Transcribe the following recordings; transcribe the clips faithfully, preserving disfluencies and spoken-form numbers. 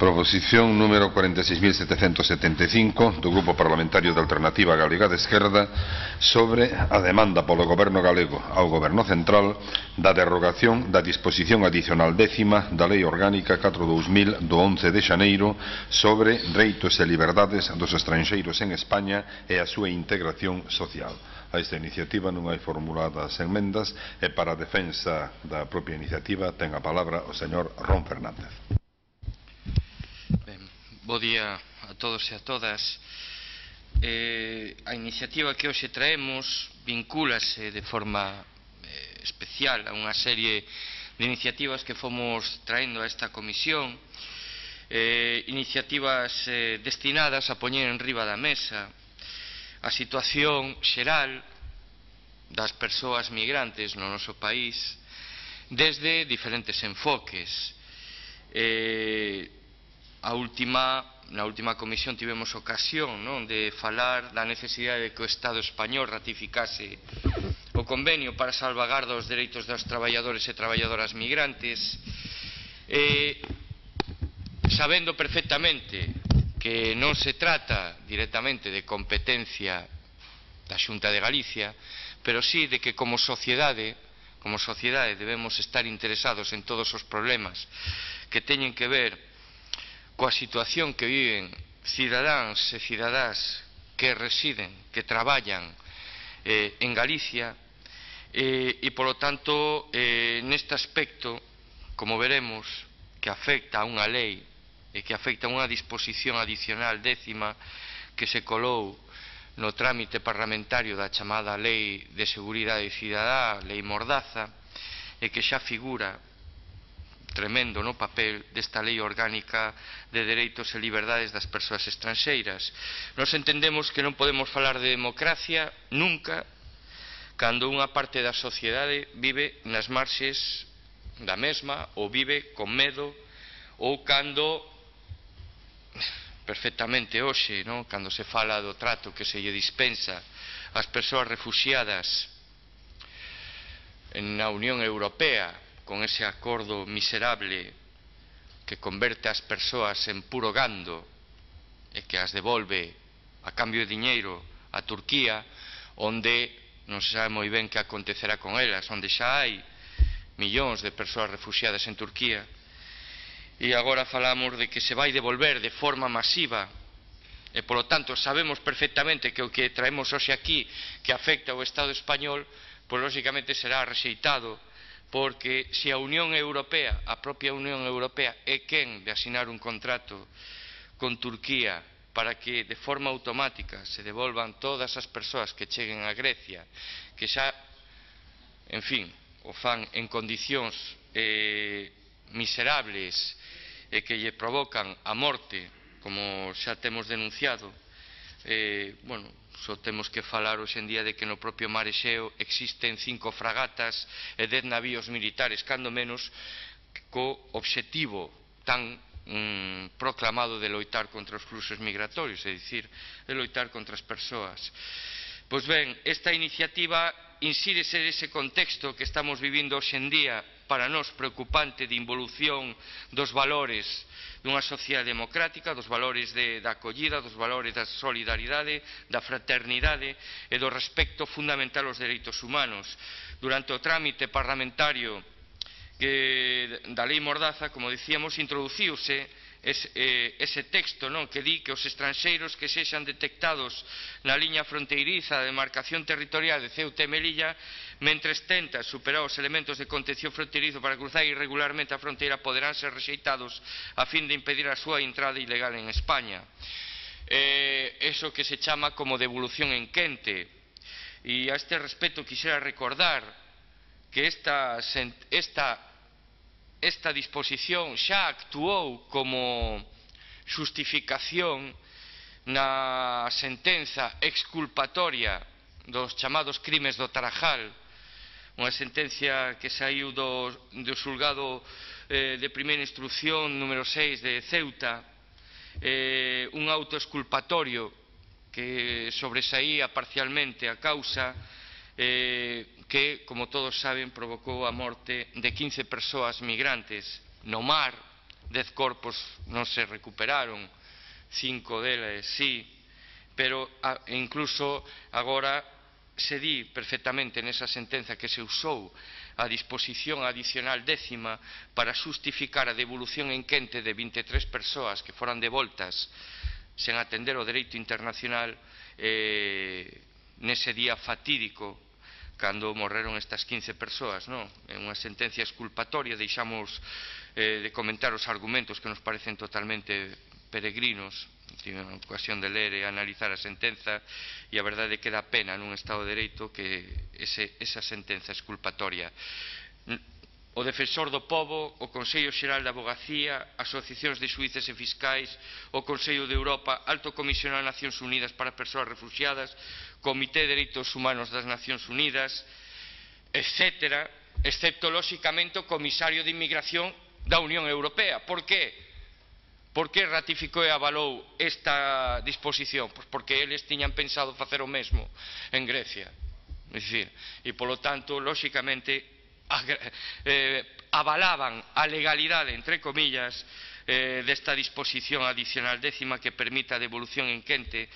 Proposición número cuarenta e seis mil setecentos setenta e cinco do Grupo Parlamentario de Alternativa Galega de Esquerda sobre a demanda polo Goberno galego ao Goberno Central da derrogación da disposición adicional décima da Lei Orgánica catro barra dous mil do once de xaneiro sobre dereitos e liberdades dos estranxeiros en España e a súa integración social. A esta iniciativa non hai formuladas enmendas e para a defensa da propia iniciativa ten a palabra o señor Ron Fernández. Ben, bo día a todos e a todas. Eh, a iniciativa que hoxe traemos vincúlase de forma eh, especial a unha serie de iniciativas que fomos traendo a esta comisión, eh, iniciativas eh, destinadas a poñer en riba da mesa a situación xeral das persoas migrantes no noso país desde diferentes enfoques. Eh, a última, na última comisión tivemos ocasión non, de falar da necesidade de que o Estado español ratificase o convenio para salvagarda os dereitos dos traballadores e traballadoras migrantes, eh, sabendo perfectamente que non se trata directamente de competencia da Xunta de Galicia, pero sí de que como sociedade, como sociedade debemos estar interesados en todos os problemas que teñen que ver coa situación que viven cidadáns e cidadás que residen, que traballan eh, en Galicia eh, e, polo tanto, eh, neste aspecto, como veremos, que afecta a unha lei e que afecta a unha disposición adicional décima que se colou no trámite parlamentario da chamada Lei de Seguridade Cidadá, Lei Mordaza, e que xa figura tremendo no papel desta Lei Orgánica de Dereitos e Liberdades das Persoas Estranxeiras. Nos entendemos que non podemos falar de democracia nunca cando unha parte da sociedade vive nas marxes da mesma ou vive con medo ou cando perfectamente hoxe, non? Cando se fala do trato que se lle dispensa ás persoas refuxiadas na Unión Europea con ese acordo miserable que converte as persoas en puro gando e que as devolve a cambio de diñeiro a Turquía, onde non se sabe moi ben que acontecerá con elas, onde xa hai millóns de persoas refuxiadas en Turquía, e agora falamos de que se vai devolver de forma masiva e, polo tanto, sabemos perfectamente que o que traemos hoxe aquí que afecta ao Estado español, pois lógicamente será rexeitado, porque se a Unión Europea, a propia Unión Europea, é quen de asinar un contrato con Turquía para que de forma automática se devolvan todas as persoas que cheguen a Grecia, que xa, en fin, o fan en condicións eh, miserables e que lle provocan a morte, como xa temos denunciado, eh, bueno, só temos que falar hoxe en día de que no propio mar Exeo existen cinco fragatas e dez navíos militares, cando menos, co obxectivo tan mm, proclamado de loitar contra os fluxos migratorios, é dicir, de loitar contra as persoas. Pois ben, esta iniciativa insírese nese contexto que estamos vivindo hoxe en día para nós preocupante de involución dos valores dunha sociedade democrática, dos valores de, da acollida, dos valores da solidaridade, da fraternidade e do respecto fundamental aos dereitos humanos. Durante o trámite parlamentario que, da Lei Mordaza, como dicíamos, introduciuse ese, eh, ese texto, non, que di que os estranxeiros que sexan detectados na liña fronteiriza da demarcación territorial de Ceuta e Melilla, mentres tenta superar os elementos de contención fronteirizo para cruzar irregularmente a fronteira, poderán ser rexeitados a fin de impedir a súa entrada ilegal en España. Eh, eso que se chama como devolución en quente. E a este respecto quixera recordar que esta, esta, esta disposición xa actuou como xustificación na sentenza exculpatoria dos chamados crimes do Tarajal, unha sentencia que saiu do, do xulgado eh, de primeira instrucción número seis de Ceuta, eh, un auto exculpatorio que sobresaía parcialmente a causa, eh, que, como todos saben, provocou a morte de quince persoas migrantes no mar dez corpos non se recuperaron, cinco deles sí, pero incluso agora se di perfectamente nesa sentenza que se usou a disposición adicional décima para xustificar a devolución en quente de vinte e tres persoas que foran devoltas sen atender o dereito internacional eh, nese día fatídico cando morreron estas quince persoas, non? É unha sentencia exculpatoria, deixamos eh, de comentar os argumentos que nos parecen totalmente peregrinos. Tive a ocasión de ler e analizar a sentenza e a verdade é que dá pena nun Estado de Dereito que ese, esa sentenza exculpatoria. O Defensor do Pobo, o Consello Xeral da Avogacía, asociacións de xuíces e fiscais, o Consello de Europa, Alto Comisionado das Nacións Unidas para Persoas Refuxiadas, Comité de Dereitos Humanos das Nacións Unidas, etcétera, excepto, lóxicamente, o Comisario de Inmigración da Unión Europea. Por que? Por que ratificou e avalou esta disposición? Pois porque eles tiñan pensado facer o mesmo en Grecia. É dicir, e polo tanto, lóxicamente, eh, avalaban a legalidade, entre comillas, eh, desta disposición adicional décima que permite a devolución en quente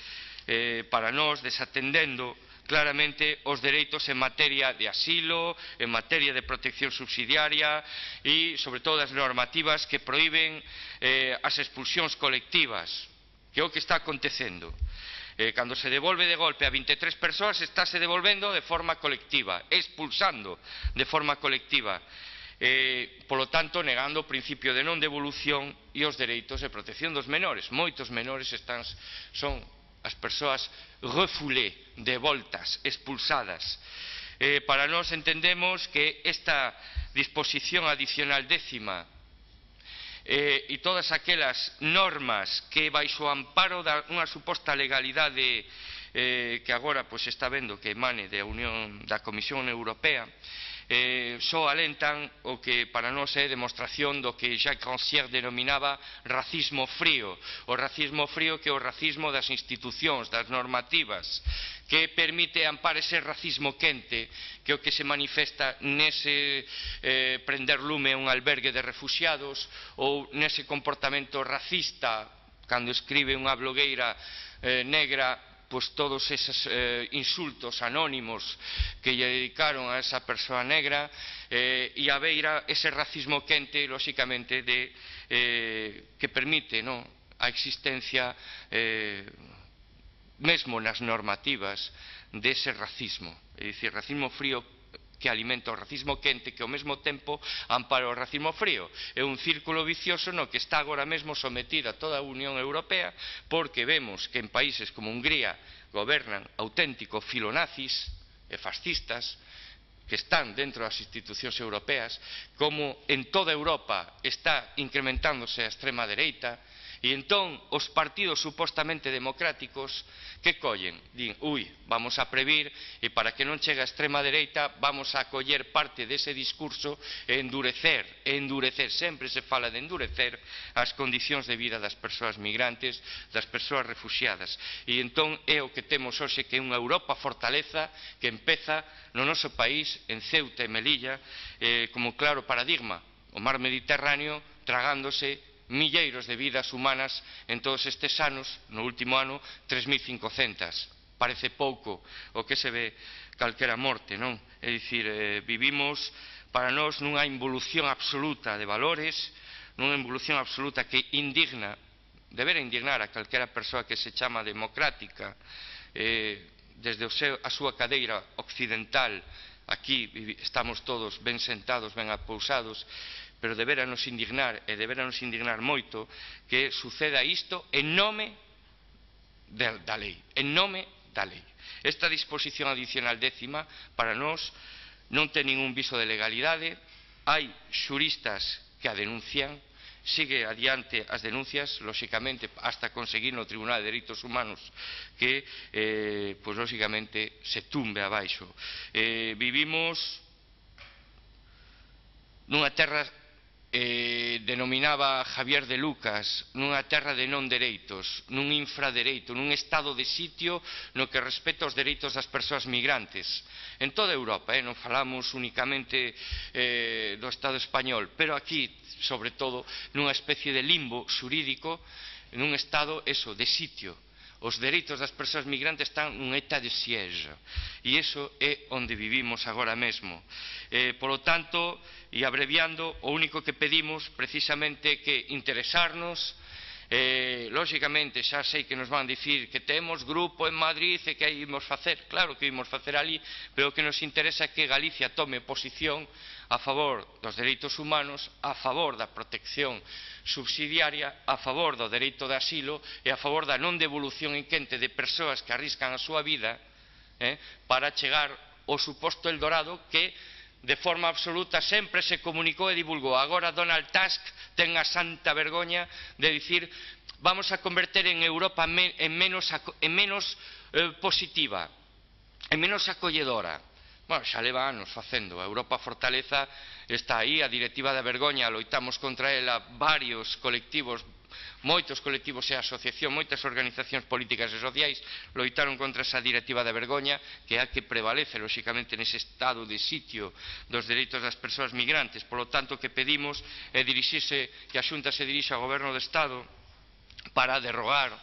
eh, para nós, desatendendo claramente os dereitos en materia de asilo, en materia de protección subsidiaria e, sobre todo, as normativas que proíben eh, as expulsións colectivas, que é o que está acontecendo. Eh, cando se devolve de golpe a vinte e tres persoas, estáse devolvendo de forma colectiva, expulsando de forma colectiva, eh, polo tanto, negando o principio de non devolución e os dereitos de protección dos menores. Moitos menores están, son as persoas refoulées, devoltas, expulsadas. Eh, para nós entendemos que esta disposición adicional décima Eh, e todas aquelas normas que baixo o amparo da unha suposta legalidade eh, que agora pois, está vendo que emane da, Unión, da Comisión Europea eh, só alentan o que para nós é demostración do que Jacques Rancière denominaba racismo frío, o racismo frío que é o racismo das institucións, das normativas, que permite ampar ese racismo quente que é o que se manifesta nese eh, prender lume a un albergue de refuxiados ou nese comportamento racista cando escribe unha blogueira eh, negra pois todos esos eh, insultos anónimos que lle dedicaron a esa persoa negra eh, e a beira ese racismo quente, lóxicamente, de, eh, que permite no, a existencia eh, mesmo nas normativas dese racismo, é dicir, racismo frío que alimenta o racismo quente que ao mesmo tempo ampara o racismo frío. É un círculo vicioso no que está agora mesmo sometida toda a Unión Europea porque vemos que en países como Hungría gobernan auténticos filonazis e fascistas que están dentro das institucións europeas, como en toda Europa está incrementándose a extrema dereita. E entón os partidos supostamente democráticos que collen? Din, ui, vamos a previr e para que non chegue a extrema dereita vamos a coller parte dese discurso e endurecer, e endurecer, sempre se fala de endurecer as condicións de vida das persoas migrantes, das persoas refuxiadas. E entón é o que temos hoxe, que é unha Europa fortaleza que empeza no noso país, en Ceuta e Melilla, eh, como claro paradigma, o mar Mediterráneo tragándose milleiros de vidas humanas en todos estes anos, no último ano tres mil cincocentas. Parece pouco o que se ve calquera morte, non? É dicir, eh, vivimos para nós nunha involución absoluta de valores, nunha involución absoluta que indigna, debera indignar a calquera persoa que se chama democrática, eh, desde o seu, a súa cadeira occidental. Aquí estamos todos ben sentados, ben apousados, pero debera nos indignar, e debera nos indignar moito, que suceda isto en nome de, da lei, en nome da lei. Esta disposición adicional décima, para nós, non ten ningún viso de legalidade, hai xuristas que a denuncian, sigue adiante as denuncias, lóxicamente, hasta conseguir no Tribunal de Dereitos Humanos que, eh, pois, lóxicamente, se tumbe abaixo. Eh, vivimos nunha terra eh, denominaba Javier de Lucas nunha terra de non dereitos, nun infradereito, nun estado de sitio no que respecta aos dereitos das persoas migrantes en toda Europa, eh, non falamos únicamente eh, do Estado español, pero aquí, sobre todo, nunha especie de limbo xurídico, nun estado, eso, de sitio. Os dereitos das persoas migrantes están nun état de siège e iso é onde vivimos agora mesmo. Eh, polo tanto, e abreviando, o único que pedimos precisamente é que interesarnos. Eh, lógicamente xa sei que nos van dicir que temos grupo en Madrid e que aí imos facer, claro que imos facer ali, pero o que nos interesa é que Galicia tome posición a favor dos dereitos humanos, a favor da protección subsidiaria, a favor do dereito de asilo e a favor da non devolución en quente de persoas que arriscan a súa vida eh, para chegar ao suposto Eldorado que de forma absoluta sempre se comunicou e divulgou. Agora Donald Tusk ten a santa vergoña de dicir vamos a converter en Europa en menos, en menos eh, positiva, en menos acolledora. Bueno, xa leva anos facendo. A Europa Fortaleza está aí, a directiva da vergoña, loitamos contra ela varios colectivos, moitos colectivos e asociacións, moitas organizacións políticas e sociais loitaron contra esa directiva da vergoña, que é a que prevalece, lóxicamente, nese estado de sitio dos dereitos das persoas migrantes. Por lo tanto, o que pedimos é dirixirse, que a Xunta se dirixa ao Goberno do Estado para derrogar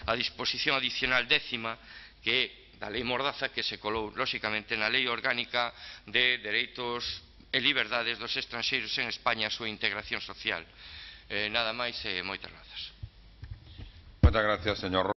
a disposición adicional décima que é da Lei Mordaza que se colou, lóxicamente, na Lei Orgánica de Dereitos e Liberdades dos Estranxeiros en España, a súa integración social. Eh, nada máis e moitas grazas. Moitas gracias, señor